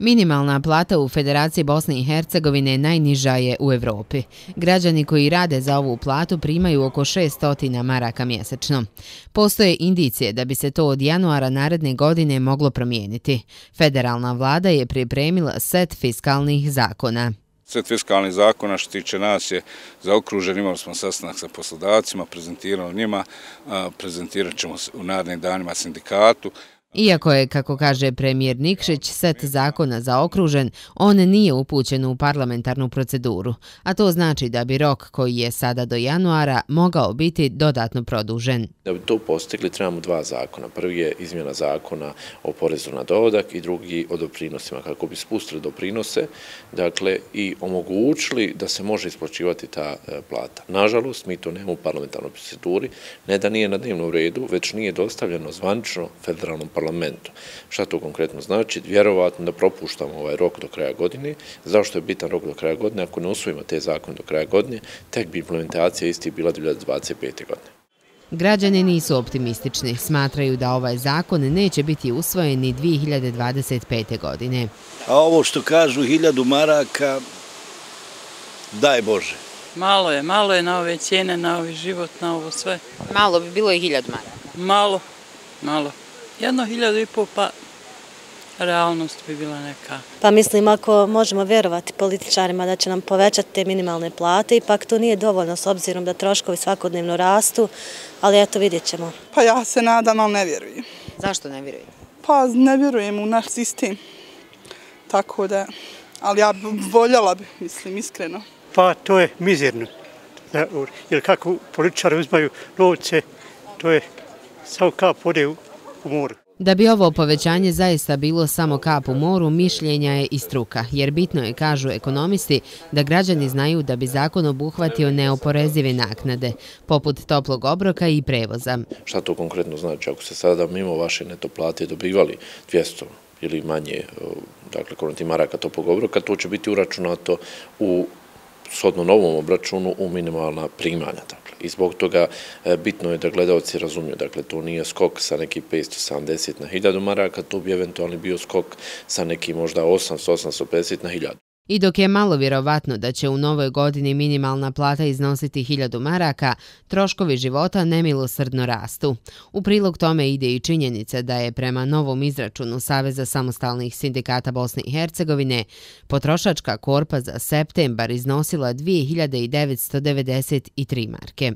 Minimalna plata u Federaciji Bosne i Hercegovine najniža je u Evropi. Građani koji rade za ovu platu primaju oko 600 maraka mjesečno. Postoje indicije da bi se to od januara naredne godine moglo promijeniti. Federalna vlada je pripremila set fiskalnih zakona. Set fiskalnih zakona što tiče nas je zaokružen, imali smo sastanak sa poslodavcima, prezentirali njima, prezentirat ćemo u narednim danima sindikatu. Iako je, kako kaže premijer Nikšić, set zakona zaokružen, on nije upućen u parlamentarnu proceduru, a to znači da bi rok koji je sada do januara mogao biti dodatno produžen. Da bi to postigli trebamo dva zakona. Prvi je izmjena zakona o porezu na dohodak i drugi o doprinosima, kako bi spustili doprinose, dakle, i omogućili da se može isplaćivati ta plata. Nažalost, mi to nemamo u parlamentarnoj proceduri, ne da nije na dnevnom redu, već nije dostavljeno zvanično federalnom parlamentu. Šta to konkretno znači? Vjerovatno da propuštamo ovaj rok do kraja godine. Zašto je bitan rok do kraja godine? Ako ne usvojimo te zakone do kraja godine, tek bi implementacija isti bila 2025. godine. Građani nisu optimistični. Smatraju da ovaj zakon neće biti usvojen ni 2025. godine. A ovo što kažu 1000 maraka, daj Bože. Malo je na ove cijene, na ovaj život, na ovo sve. Malo bi bilo i 1000 maraka. Malo. 1.500 pa realnost bi bila neka. Pa mislim, ako možemo vjerovati političarima da će nam povećati te minimalne plate, ipak to nije dovoljno s obzirom da troškovi svakodnevno rastu, ali eto vidjet ćemo. Pa ja se nadam, ali ne vjerujem. Zašto ne vjerujem? Pa ne vjerujem u naš sistem. Tako da, ali ja voljela bi, mislim, iskreno. Pa to je mizerno. Jer kako političari uzmaju novce, to je samo kap vode u moru. Da bi ovo povećanje zaista bilo samo kap u moru, mišljenja je i struka, jer bitno je, kažu ekonomisti, da građani znaju da bi zakon obuhvatio neoporezive naknade, poput toplog obroka i prevoza. Šta to konkretno znači? Ako se sada mimo vaše neto plate dobivali 200 ili manje, dakle, konoti maraka toplog obroka, to će biti uračunato u shodno novom obračunu u minimalna primanja. I zbog toga bitno je da gledalci razumiju. Dakle, to nije skok sa nekih 570 na 1000 maraka, to bi eventualno bio skok sa nekih možda 850 na 1000. I dok je malo vjerovatno da će u novoj godini minimalna plata iznositi 1000 maraka, troškovi života nemilosrdno rastu. U prilog tome ide i činjenica da je prema novom izračunu Saveza samostalnih sindikata Bosne i Hercegovine potrošačka korpa za septembar iznosila 2993 marke.